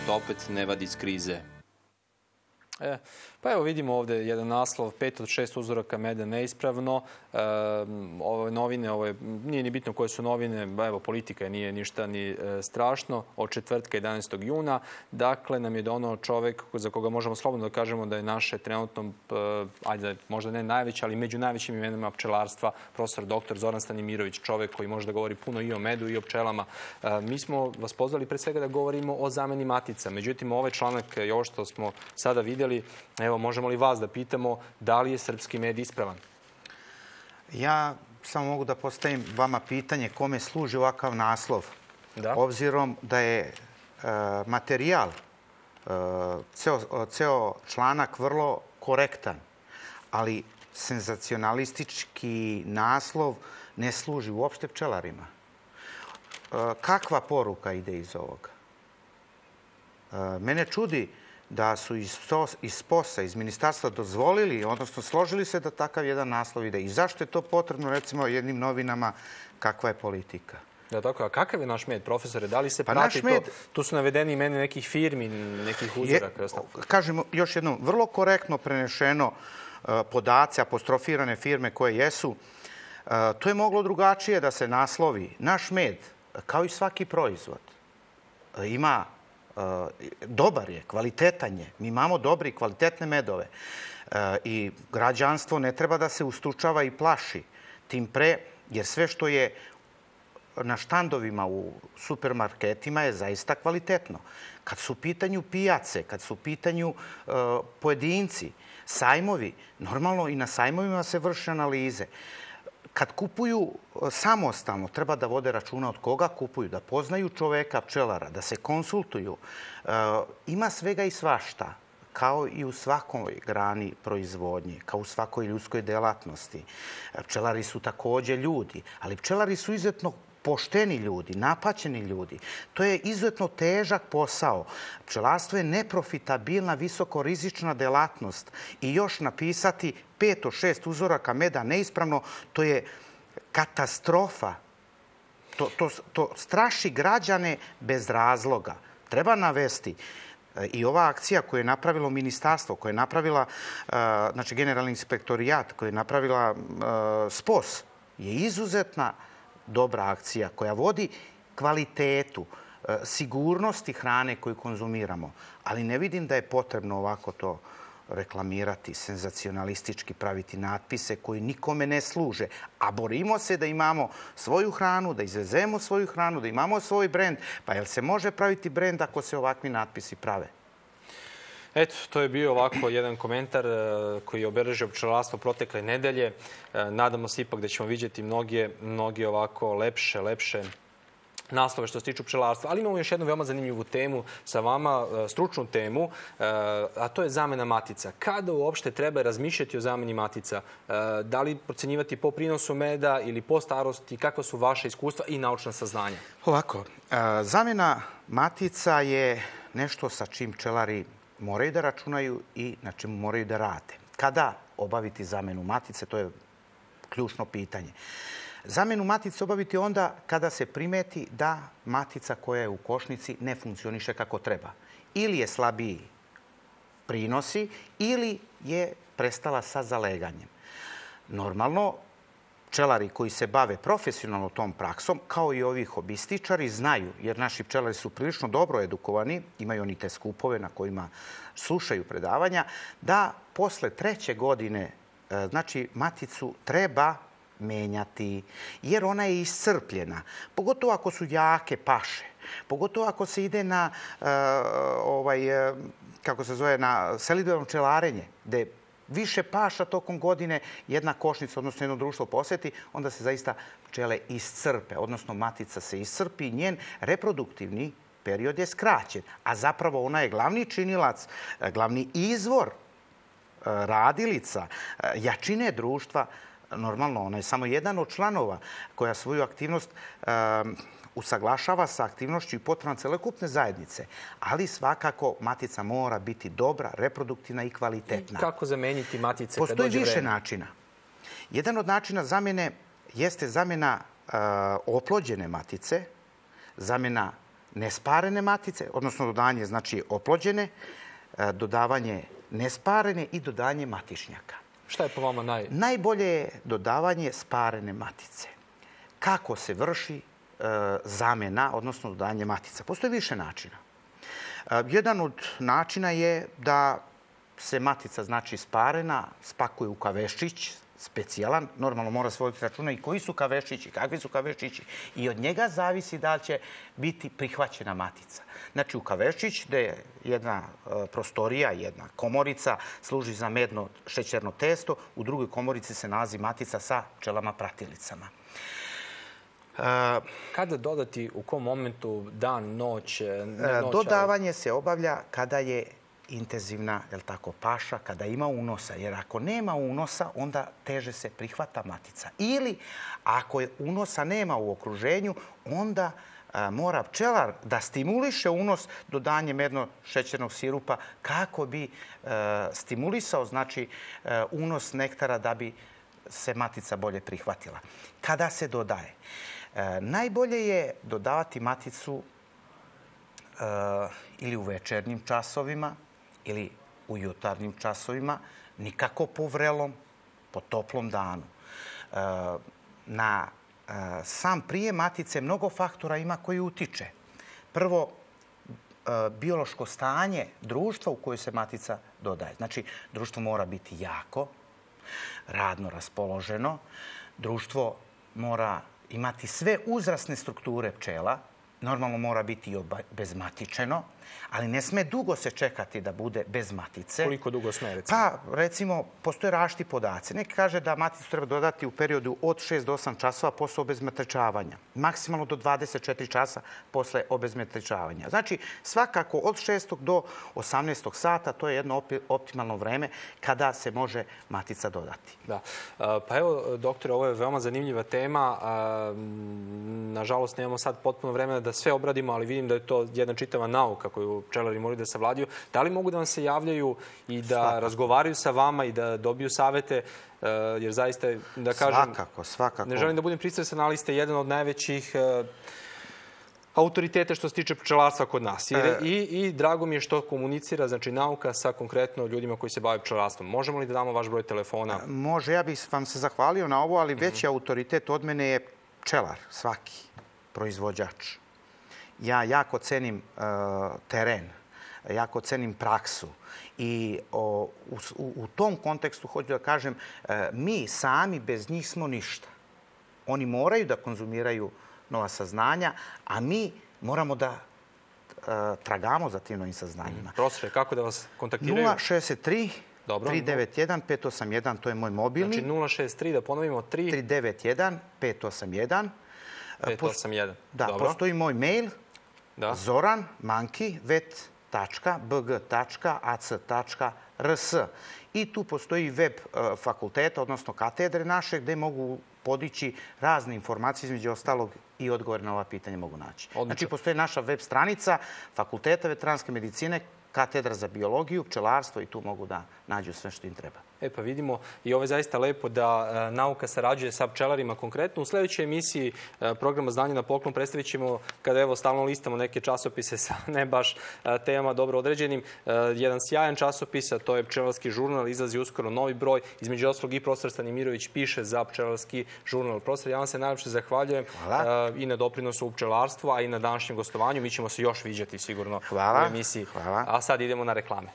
opet ne vadi iz krize? Pa evo vidimo ovdje jedan naslov, 5 od 6 uzoraka meda neispravno. Ove novine, nije ni bitno koje su novine, evo politika nije ništa ni strašno, od četvrtka 11. juna. Dakle, nam je donao čovjek za koga možemo slobodno da kažemo da je naše trenutno, ajde, možda ne najveće, ali među najvećim imenima pčelarstva, profesor dr. Zoran Stanimirović, čovjek koji može da govori puno i o medu i o pčelama. Mi smo vas pozvali pre svega da govorimo o zameni matica. Međutim, ovaj članak i ovo što smo sada vidjeli, evo, možemo li vas da pitamo da li je srpski med ispravan? Ja samo mogu da postavim vama pitanje kome služi ovakav naslov. Obzirom da je materijal, ceo članak vrlo korektan, ali senzacionalistički naslov ne služi uopšte pčelarima. Kakva poruka ide iz ovoga? Mene čudi da su iz POS-a, iz ministarstva dozvolili, odnosno složili se da takav jedan naslov ide. I zašto je to potrebno, recimo, jednim novinama, kakva je politika? Da, tako. A kakav je naš med, profesore? Da li se prati to? Tu su navedeni imena nekih firmi, nekih uzoraka. Kažemo još jednom, vrlo korektno prenešeno podaci, apostrofirane firme koje jesu. To je moglo drugačije da se naslovi. Naš med, kao i svaki proizvod, ima dobar je, kvalitetan je. Mi imamo dobre i kvalitetne medove. I građanstvo ne treba da se ustručava i plaši. Tim pre, jer sve što je na štandovima u supermarketima je zaista kvalitetno. Kad su u pitanju pijace, kad su u pitanju pojedinci, sajmovi, normalno i na sajmovima se vrše analize. Kad kupuju samostalno, treba da vode računa od koga kupuju, da poznaju čoveka, pčelara, da se konsultuju. Ima svega i svašta, kao i u svakoj grani proizvodnje, kao u svakoj ljudskoj delatnosti. Pčelari su također ljudi, ali pčelari su izuzetno pošteni ljudi, napaćeni ljudi. To je izuzetno težak posao. Pčelarstvo je neprofitabilna, visokorizična delatnost. I još napisati 5 od 6 uzoraka meda neispravno, to je katastrofa. To straši građane bez razloga. Treba navesti i ova akcija koju je napravilo ministarstvo, koju je napravila Generalni inspektorijat, koju je napravila SPOS, je izuzetna dobra akcija koja vodi kvalitetu, sigurnosti hrane koju konzumiramo. Ali ne vidim da je potrebno ovako to reklamirati, senzacionalistički praviti natpise koji nikome ne služe. A borimo se da imamo svoju hranu, da izvezemo svoju hranu, da imamo svoj brend. Pa jel se može praviti brend ako se ovakvi natpisi prave? Eto, to je bio ovako jedan komentar koji je obeležio pčelarstvo protekle nedelje. Nadamo se ipak da ćemo vidjeti mnoge ovako lepše naslove što se tiču pčelarstva. Ali imamo još jednu veoma zanimljivu temu sa vama, stručnu temu, a to je zamena matica. Kada uopšte treba razmišljati o zameni matica? Da li procenjivati po prinosu meda ili po starosti? Kakva su vaše iskustva i naučna saznanja? Ovako, zamena matica je nešto sa čim pčelari moraju da računaju i na čemu moraju da rade. Kada obaviti zamenu matice, to je ključno pitanje. Zamenu matice obaviti onda kada se primeti da matica koja je u košnici ne funkcioniše kako treba. Ili je slabiji prinosi, ili je prestala sa zaleganjem. Normalno, pčelari koji se bave profesionalno tom praksom, kao i ovi hobističari, znaju, jer naši pčelari su prilično dobro edukovani, imaju oni te skupove na kojima slušaju predavanja, da posle 3. godine, znači, maticu treba menjati, jer ona je iscrpljena. Pogotovo ako su jake paše. Pogotovo ako se ide na, na selidbeno pčelarenje, gde više paša tokom godine jedna košnica, odnosno jedno društvo poseti, onda se zaista pčele iscrpe, odnosno matica se iscrpi i njen reproduktivni period je skraćen. A zapravo ona je glavni činilac, glavni izvor radilica, jačine društva. Normalno, ona je samo jedan od članova koja svoju aktivnost usaglašava sa aktivnošću i potrebama celokupne zajednice. Ali svakako matica mora biti dobra, reproduktivna i kvalitetna. I kako zameniti matice kad dođe vreme? Postoji više načina. Jedan od načina zamene jeste zamena oplođene matice, zamena nesparene matice, odnosno dodanje znači oplođene, dodavanje nesparene i dodanje matičnjaka. Šta je po vama Najbolje je dodavanje sparene matice. Kako se vrši zamjena, odnosno dodanje matica? Postoji više načina. Jedan od načina je da se matica, znači sparena, spakuje u kaveščić, specijalan. Normalno mora se voditi računa i koji su kaveščići, kakvi su kaveščići. I od njega zavisi da li će biti prihvaćena matica. Znači u kaveščić, gde je jedna prostorija, jedna komorica, služi za medno šećerno testo, u drugoj komorici se nalazi matica sa pčelama pratilicama. Kada dodati, u kom momentu, dan, noć? Dodavanje se obavlja kada je intenzivna, paša, kada ima unosa. Jer ako nema unosa, onda teže se prihvata matica. Ili ako unosa nema u okruženju, onda mora pčelar da stimuliše unos dodanjem medno-šećernog sirupa kako bi stimulisao, znači, unos nektara da bi se matica bolje prihvatila. Kada se dodaje? Najbolje je dodavati maticu ili u večernjim časovima ili u jutarnjim časovima, nikako po vrelom, po toplom danu. Na sam prijem matice mnogo faktora ima koji utiče. Prvo, biološko stanje društva u kojoj se matica dodaje. Znači, društvo mora biti jako, radno raspoloženo. Društvo mora imati sve uzrasne strukture pčela. Normalno mora biti i obezmatičeno, ali ne sme dugo se čekati da bude bez matice. Koliko dugo sme, recimo? Pa, recimo, postoje različiti podaci. Neki kaže da maticu treba dodati u periodu od 6 do 8 časova posle obezmatičavanja. Maksimalno do 24 časa posle obezmatičavanja. Znači, svakako od 6. do 18. sata, to je jedno optimalno vreme kada se može matica dodati. Da. Pa evo, doktore, ovo je veoma zanimljiva tema. Nažalost, nemamo sad potpuno vremena da sve obradimo, ali vidim da je to jedna čitava nauka koju pčelari moraju da savladaju. Da li mogu da vam se javljaju i da razgovaraju sa vama i da dobiju savete? Jer zaista, da kažem... Svakako. Ne želim da budem pristrasan, ali ste jedan od najvećih autoriteta što se tiče pčelarstva kod nas. I drago mi je što komunicira, znači, nauka sa konkretno ljudima koji se bave pčelarstvom. Možemo li da damo vaš broj telefona? Može, ja bih vam se zahvalio na ovo, ali veći autoritet od mene je pčelar, svaki proizvođač. Ja jako cenim teren, jako cenim praksu i u tom kontekstu hoću da kažem, mi sami bez njih smo ništa. Oni moraju da konzumiraju nova saznanja, a mi moramo da tragamo za tim novim saznanjima. Profesore, kako da vas kontaktiraju? 063 391 581, to je moj mobilni. Znači 063, da ponovimo, 391 581. 581. Da, postoji moj mail zoran@vet.bg.ac.rs. I tu postoji web fakulteta, odnosno katedre naše, gde mogu podići razne informacije, između ostalog i odgovore na ova pitanja mogu naći. Znači, postoji naša web stranica Fakulteta veterinarske medicine, katedra za biologiju, pčelarstvo i tu mogu da nađu sve što im treba. Pa vidimo i ovo je zaista lepo da nauka sarađuje sa pčelarima konkretno. U sljedećoj emisiji programa Znanje na poklon predstavit ćemo, kada evo stalno listamo neke časopise sa ne baš temama dobro određenim, jedan sjajan časopis, a to je Pčelarski žurnal, izlazi uskoro novi broj. Između ostalog i profesor Stanimirović piše za Pčelarski žurnal. Profesor, ja vam se najlepše zahvaljujem i na doprinosu u pčelarstvu, a i na današnjem gostovanju. Mi ćemo se još viđati sigurno u emisiji. A sad idemo na reklame.